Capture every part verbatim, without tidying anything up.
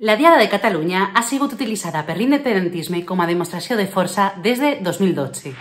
La Diada de Catalunya ha sigut utilitzada per l'independentisme com a demostració de força des de dos mil dotze.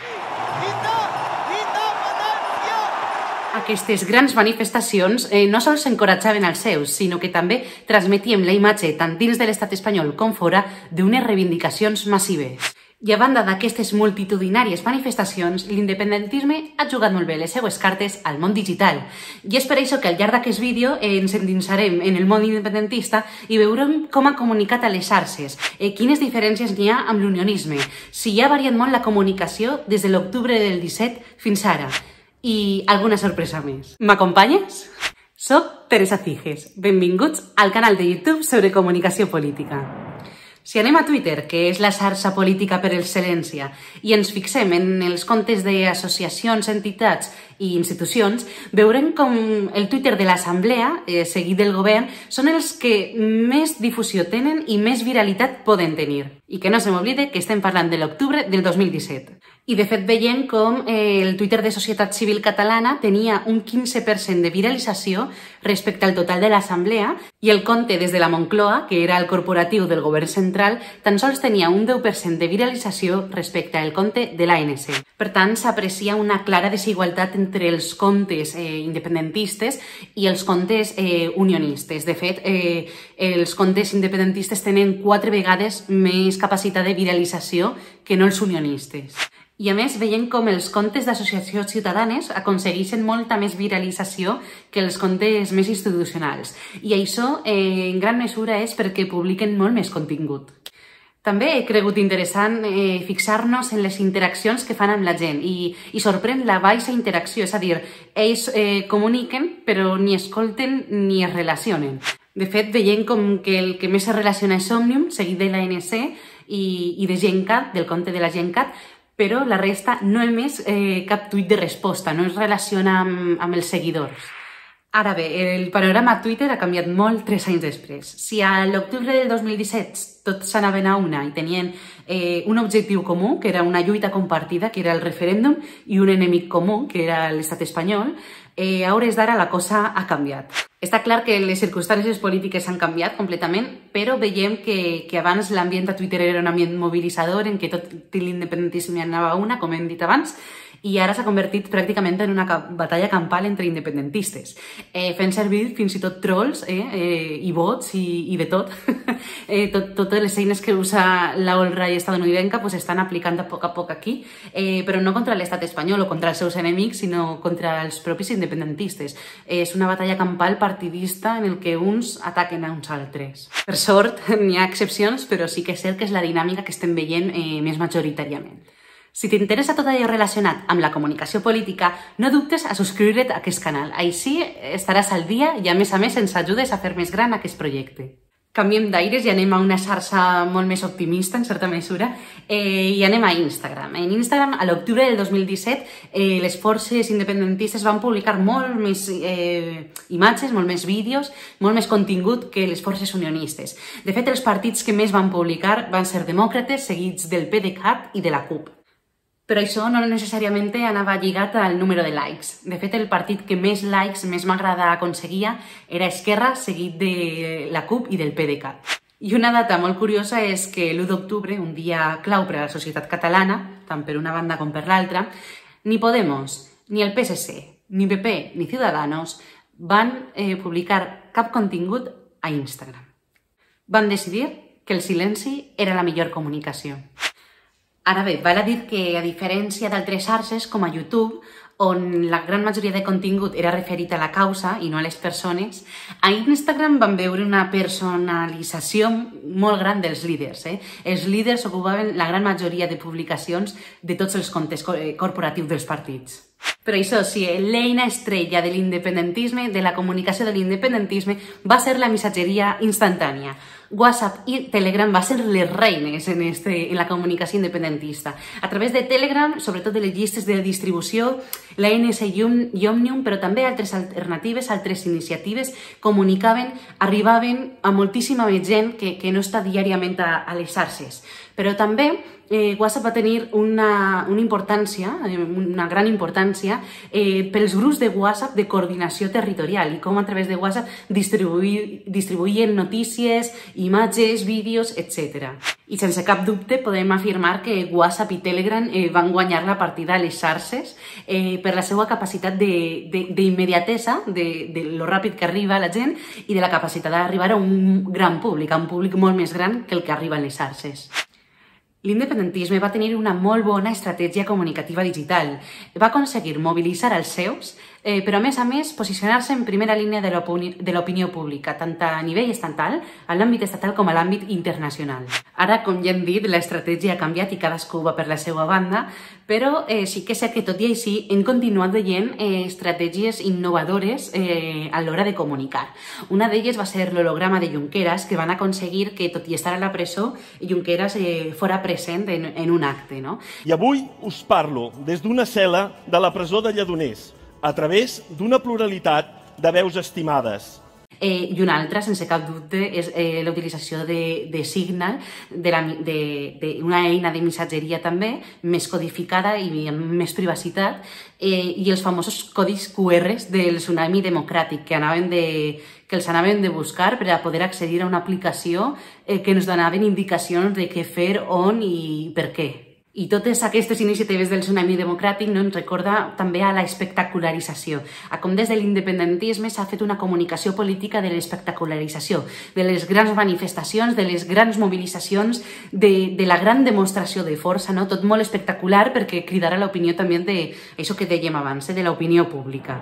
Aquestes grans manifestacions eh, no sols encoratjaven els seus, sinó que també transmetien la imatge tant dins de l'estat espanyol com fora d'unes reivindicacions massives. I a banda d'aquestes multitudinàries manifestacions, l'independentisme ha jugat molt bé les seues cartes al món digital. I és per això que al llarg d'aquest vídeo eh, ens endinsarem en el món independentista i veurem com ha comunicat a les xarxes, eh, quines diferències n'hi ha amb l'unionisme, si ha variat molt la comunicació des de l'octubre del disset fins ara. I alguna sorpresa més. M'acompanyes? Soc Teresa Ciges. Benvinguts al canal de YouTube sobre comunicació política. Si anem a Twitter, que és la xarxa política per excel·lència, i ens fixem en els comptes d'associacions, entitats i institucions, veurem com el Twitter de l'Assemblea, eh, seguit del govern, són els que més difusió tenen i més viralitat poden tenir. I que no se m'oblide que estem parlant de l'octubre del dos mil disset. I de fet veiem com eh, el Twitter de Societat Civil Catalana tenia un quinze per cent de viralització respecte al total de l'Assemblea i el compte des de la Moncloa, que era el corporatiu del govern central, tan sols tenia un deu per cent de viralització respecte al compte de l'A N C. Per tant, s'aprecia una clara desigualtat entre els comptes eh, independentistes i els comptes eh, unionistes. De fet, eh, els comptes independentistes tenen quatre vegades més capacitat de viralització que no els unionistes. I a més veiem com els comptes d'associacions ciutadanes aconsegueixen molta més viralització que els comptes més institucionals. I això eh, en gran mesura és perquè publiquen molt més contingut. També he cregut interessant eh, fixar-nos en les interaccions que fan amb la gent i, i sorprèn la baixa interacció, és a dir, ells eh, comuniquen però ni escolten ni es relacionen. De fet, veiem com que el que més es relaciona és Òmnium, seguit de l'A N C i, i de Gencat, del compte de la Gencat, però la resta no ha emès eh, cap tuit de resposta, no es relaciona amb, amb els seguidors. Ara bé, el panorama a Twitter ha canviat molt tres anys després. Si a l'octubre del dos mil disset tots s'anaven a una i tenien eh, un objectiu comú, que era una lluita compartida, que era el referèndum, i un enemic comú, que era l'estat espanyol, eh, a hores d'ara la cosa ha canviat. Està clar que les circumstàncies polítiques han canviat completament, però veiem que, que abans l'ambient a Twitter era un ambient mobilitzador en què tot l'independentisme anava a una, com hem dit abans, i ara s'ha convertit pràcticament en una batalla campal entre independentistes, eh, fent servir fins i tot trolls eh, eh, i bots i, i de tot. eh, tot. Totes les eines que usa la alt-right estadounidenca pues, estan aplicant a poc a poc aquí, eh, però no contra l'estat espanyol o contra els seus enemics, sinó contra els propis independentistes. Eh, és una batalla campal partidista en el que uns ataquen a uns altres. Per sort, n'hi ha excepcions, però sí que és cert que és la dinàmica que estem veient eh, més majoritàriament. Si t'interessa tot allò relacionat amb la comunicació política, no dubtes a subscriure't a aquest canal. Així estaràs al dia i a més a més ens ajudes a fer més gran aquest projecte. Canviem d'aires i anem a una xarxa molt més optimista, en certa mesura, eh, i anem a Instagram. En Instagram, a l'octubre del dos mil disset, eh, les forces independentistes van publicar molt més eh, imatges, molt més vídeos, molt més contingut que les forces unionistes. De fet, els partits que més van publicar van ser demòcrates, seguits del PDeCAT i de la CUP. Però això no necessàriament anava lligat al número de likes. De fet, el partit que més likes, més m'agrada aconseguia era Esquerra, seguit de la CUP i del PDeCAT. I una data molt curiosa és que l'u d'octubre, un dia clau per a la societat catalana, tant per una banda com per l'altra, ni Podemos, ni el P S C, ni P P, ni Ciudadanos van eh, publicar cap contingut a Instagram. Van decidir que el silenci era la millor comunicació. Ara bé, val a dir que, a diferència d'altres xarxes, com a YouTube, on la gran majoria de contingut era referit a la causa i no a les persones, a Instagram van veure una personalització molt gran dels líders. Eh? Els líders ocupaven la gran majoria de publicacions de tots els comptes corporatius dels partits. Però això sí, l'eina estrella de l'independentisme, de la comunicació de l'independentisme, va ser la missatgeria instantània. WhatsApp i Telegram van ser les reines en, este, en la comunicació independentista. A través de Telegram, sobretot de les llistes de distribució, l'A N C i Òmnium, però també altres alternatives, altres iniciatives, comunicaven, arribaven a moltíssima més gent que, que no està diàriament a, a les xarxes. Per Però també eh, WhatsApp va tenir una, una importància, una gran importància eh, pels grups de WhatsApp de coordinació territorial i com a través de WhatsApp distribuir, distribuïen notícies, imatges, vídeos, etcètera. I sense cap dubte podem afirmar que WhatsApp i Telegram eh, van guanyar la partida a les xarxes eh, per la seva capacitat d'immediatesa, de, de, de, de lo ràpid que arriba a la gent i de la capacitat d'arribar a un gran públic, a un públic molt més gran que el que arriba a les xarxes. L'independentisme va tenir una molt bona estratègia comunicativa digital. Va aconseguir mobilitzar els seus, eh, però a més a més posicionar-se en primera línia de l'opinió pública, tant a nivell estatal, a l'àmbit estatal com a l'àmbit internacional. Ara, com ja hem dit, l'estratègia ha canviat i cadascú va per la seva banda, però eh, sí que sé que tot i així hem continuat veient eh, estratègies innovadores eh, a l'hora de comunicar. Una d'elles va ser l'holograma de Junqueras, que van aconseguir que, tot i estar a la presó, Junqueras eh, fora present en, en un acte. No? I avui us parlo des d'una cel·la de la presó de Lledoners, a través d'una pluralitat de veus estimades. Eh, I una altra, sense cap dubte, és eh, la utilització de, de Signal, d'una eina de missatgeria també, més codificada i amb més privacitat, eh, i els famosos codis Q Rs del tsunami democràtic que, anaven de, que els anaven de buscar per a poder accedir a una aplicació eh, que ens donaven indicacions de què fer, on i per què. I totes aquestes iniciatives del tsunami democràtic no ens recorda també a la espectacularització, a com des de l'independentisme s'ha fet una comunicació política de l'espectacularització, de les grans manifestacions, de les grans mobilitzacions, de, de la gran demostració de força, no? Tot molt espectacular perquè cridarà l'opinió també d'això que dèiem abans, eh? De l'opinió pública.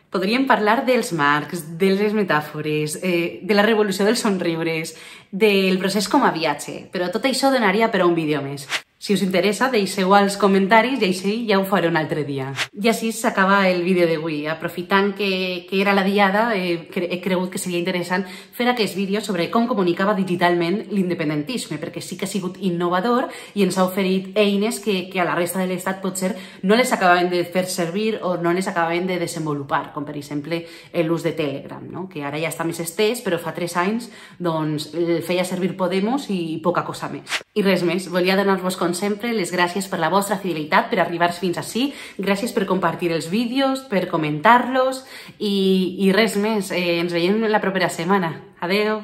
Podríem parlar dels marcs, de les metàfores, eh, de la revolució dels somriures, del procés com a viatge, però tot això donaria per a un vídeo més. Si us interessa, deixeu als comentaris i així ja ho faré un altre dia. I així s'acaba el vídeo d'avui. Aprofitant que, que era la diada, eh, he cregut que seria interessant fer aquest vídeo sobre com comunicava digitalment l'independentisme, perquè sí que ha sigut innovador i ens ha oferit eines que, que a la resta de l'Estat potser no les acabaven de fer servir o no les acabaven de desenvolupar, com per exemple l'ús de Telegram, no? Que ara ja està més estès, però fa tres anys doncs, el feia servir Podemos i poca cosa més. I res més, volia donar-vos com sempre, les gràcies per la vostra fidelitat, per arribar fins ací, gràcies per compartir els vídeos, per comentar-los i, i res més, eh, ens veiem la propera setmana. Adeu!